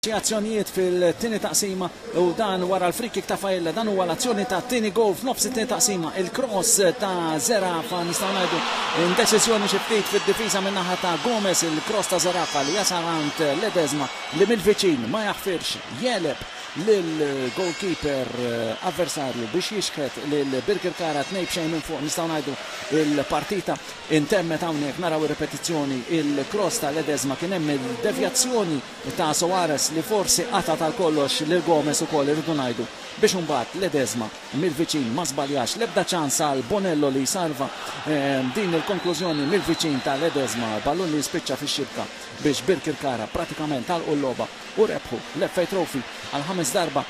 Xi azzjonijiet fil-tieni taqsima u dan wara l-free kick ta' Failla, dan huwa l-azzjoni ta' tieni goal f'nofs it-tieni taqsima. Il-cross ta' Zerafa, nistgħu ngħidu indeċiżjoni xi ftit fid-difiża min-naħa ta' Gomez, il-cross ta' Zerafa li jasal għand Ledesma li mill-viċin ma jaħfirx jegħleb lill-goalkeeper avversarju biex jixħet lil Birkirkara 2-0 minn fuq. Nistgħu ngħidu il-partita intemmet hawnhekk. Naraw ir-ripetizzjoni, il-cross ta' Ledesma, kien hemm il-devjazzjoni ta' Soares li forsi qata' tal kollox lil Gomez ukoll, irridu ngħidu, biex imbagħad Ledesma mill-viċin ma żbaljax, l-ebda ċans għal Bonello li jsalva din il-konklużjoni mill-viċin ta' Ledesma, ballun li jispiċċa fix-xibka biex Birkirkara pratikament għalqu l-logħba u rebħu l-FA Trophy għal ħames darba.